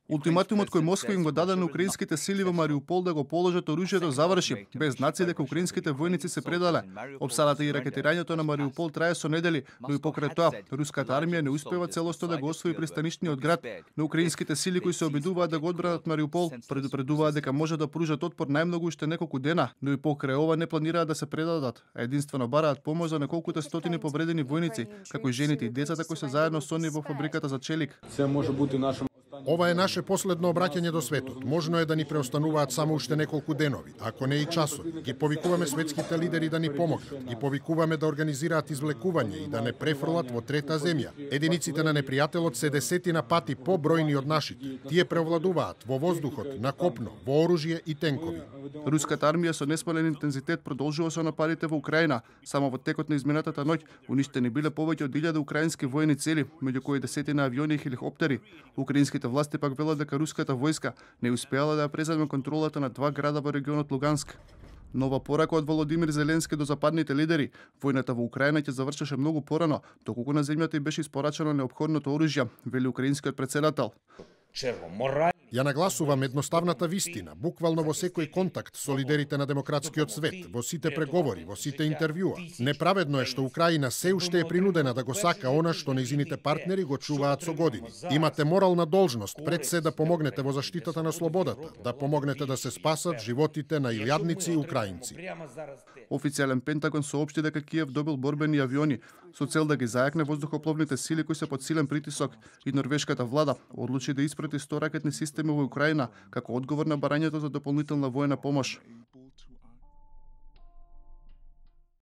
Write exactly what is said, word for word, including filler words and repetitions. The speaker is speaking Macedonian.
Ултиматумот кој Москва им го даде на украинските сили во Мариупол да го положат оружјето заврши, без знаци дека украинските војници се предале. Опсадата и ракетирањето на Мариупол трае со недели, но и покрај тоа, руската армија не успева целосно да го освои пристанишниот град. На украинските сили кои се обидуваат да го одбранат Мариупол, предупредуваат дека може да пружат отпор најмногу уште неколку дена, но и покрај ова не планираат да се предадат, а единствено бараат помош за неколкуте стотини повредени војници, како и жените и децата кои се заедно со нив во фабриката за челик. Се може бути наше Ова е наше последно обраќање до светот. Можно е да ни преостануваат само уште неколку денови, ако не и часови. Ги повикуваме светските лидери да ни помогнат. Ги повикуваме да организираат извлекување и да не префрлат во трета земја. Единиците на непријателот се десетина пати побројни од нашите. Тие преовладуваат во воздухот, на копно, во оружје и тенкови. Руската армија со неспален интензитет продолжува со нападите во Украина. Само во текот на изминатата ноќ уништени биле повеќе од илјада украински војни цели, меѓу кои десетина авиони и хеликоптери. Украинските власти пак велат дека руската војска не успеала да ја преземе контролата на два града во регионот Луганск. Нова порака од Володимир Зеленски до западните лидери. Војната во Украина ќе завршеше многу порано, доколку на земјата и беше испорачено неопходното оружје, вели украинскиот претседател. Ја нагласувам едноставната вистина, буквално во секој контакт со лидерите на демократскиот свет, во сите преговори, во сите интервјуа. Неправедно е што Украина се уште е принудена да го сака она што нејзините партнери го чуваат со години. Имате морална должност пред се да помогнете во заштитата на слободата, да помогнете да се спасат животите на илјадници украинци. Официјален Пентагон соопшти дека Киев добил борбени авиони со цел да ги зајакне воздухопловните сили кои се под силен притисок, и норвешката влада одлучи да испрати сто ракетни системи во Украина како одговор на барањето за дополнителна војна помош.